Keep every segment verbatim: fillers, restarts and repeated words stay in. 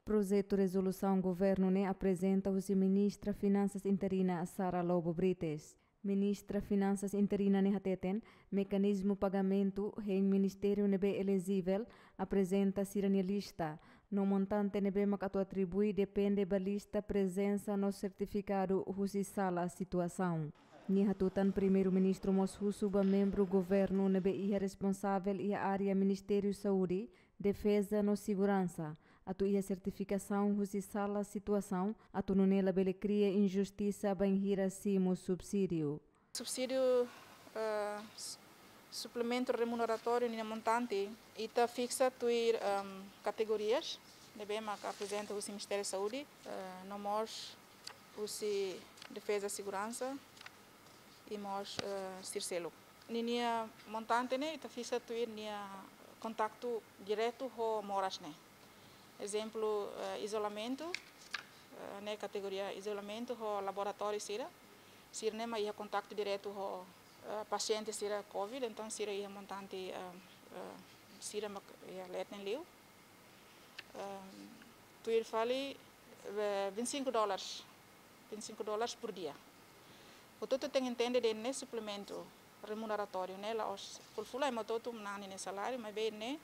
Projetu rezolusaun governu ne'e aprezenta husi Ministra Finansas interina Sara Lobo Brites. Ministra Finansas interina ne'e hateten, mekanizmu pagamentu hein ministériu ne'ebé elejivel aprezenta sira-nia lista, no montante ne'ebé mak atu atribui depende ba lista, prezensa no sertifikadu husi sala situasaun. Nia hatutan Primeiru-Ministru mós husu ba membru governu ne'ebé iha responsavel iha área Ministériu Saúde, Defeza no Seguransa atu iha sertifikasaun husi sala situasaun atu nune'e labele kria injustisa bainhira simu subsídiu. Subsídiu, eh, s-, suplementu remuneratóriu ninia montante, ita fiksa tuir, ehm, kategorias ne'ebé mak aprezenta husi Ministériu Saúde, eh, no mós husi Defeza, Seguransa i mós, eh, sira seluk. Ninia montante ne'e ita fiksa tuir nia kontaktu diretu ho moras ne'e. Ezemplu, eh, izolamentu, eh, ne'e kategoria izolamentu ho laboratóriu sira. Sira ne'e mak iha kontaktu diretu ho, eh, pasiente sira covid, entaun sira iha montante, eh, eh, sira mak iha leet neen liu. Ehm, tuir fali, eh, vinte e cinco dólares, vinte e cinco dólares por dia. Hotu-hotu tenke entende de'it ne'e suplementu remuneratóriu ne'e la'ós full-full ema hotu-hotu manán ninia saláriu, maibé ne'e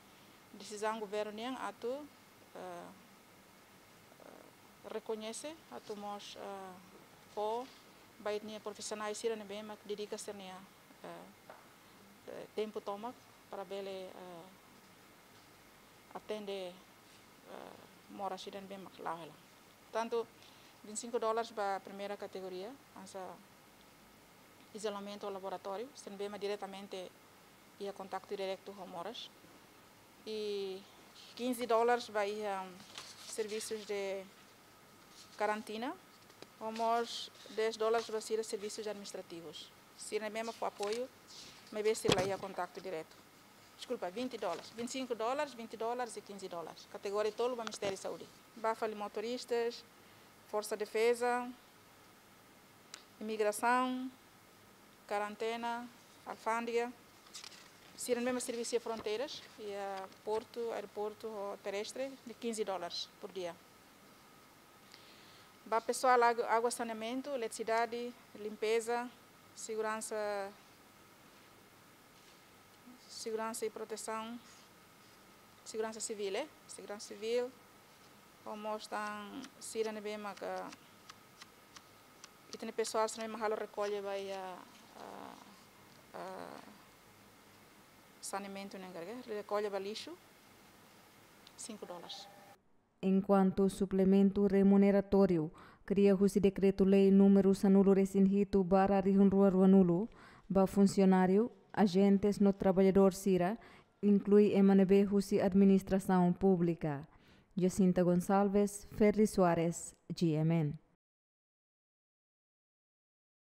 desizaun governu nian atu, eh, eh, rekoñese, atu mós, eh, fó ba ita-nia profisionál sira ne'ebé mak dedika sira-nia, eh, eh, tempu tomak para bele, eh, atende, eh, moras sira ne'ebé mak la'o hela. Portantu, vinte e cinco dólares ba primeira kategoria, hanesan izolamentu laboratóriu, sira ne'ebé mak diretamente iha kontaktu diretu ho moras. I quinze dólares ba iha serviços de karantina, no mós dez dólares ba sira serviços administrativos. Sira ne'ebé mak fó apoiu, maibé sira la iha kontaktu diretu. Deskulpa, vinte dólares, vinte e cinco dólares, vinte dólares i quinze dólares. Kategoria tolu ba Ministériu Saúde. Ba fali motoristas, Forsa Defeza, imigrasaun, karantena, alfándega. Sira ne'ebé mak servisu iha fronteiras, iha portu, aeroportu ho terrestre, ne'e quinze dólares por dia. Ba pesoál água, água, saneamentu, eletrisidade, limpeza, seguransa, seguransa i protesaun, seguransa sivíl, eh? Seguransa sivíl, no mós tan sira ne'ebé maka, ita-nia pesoál sira ne'ebé mak halo rekolla ba iha, ah, ah, saneamentu ne'e enkarga, rekolla ba lixu, cinco dólares. Enkuantu suplementu remuneratóriu kria husi Dekretu-Lei númeru sanulu-resin-hitu barra rihun rua ruanulu, ba funsionáriu, ajentes no traballadór sira, inklui ema ne'ebé husi administrasaun públika. Jacinta Gonçalves, Ferri Soares, G M N.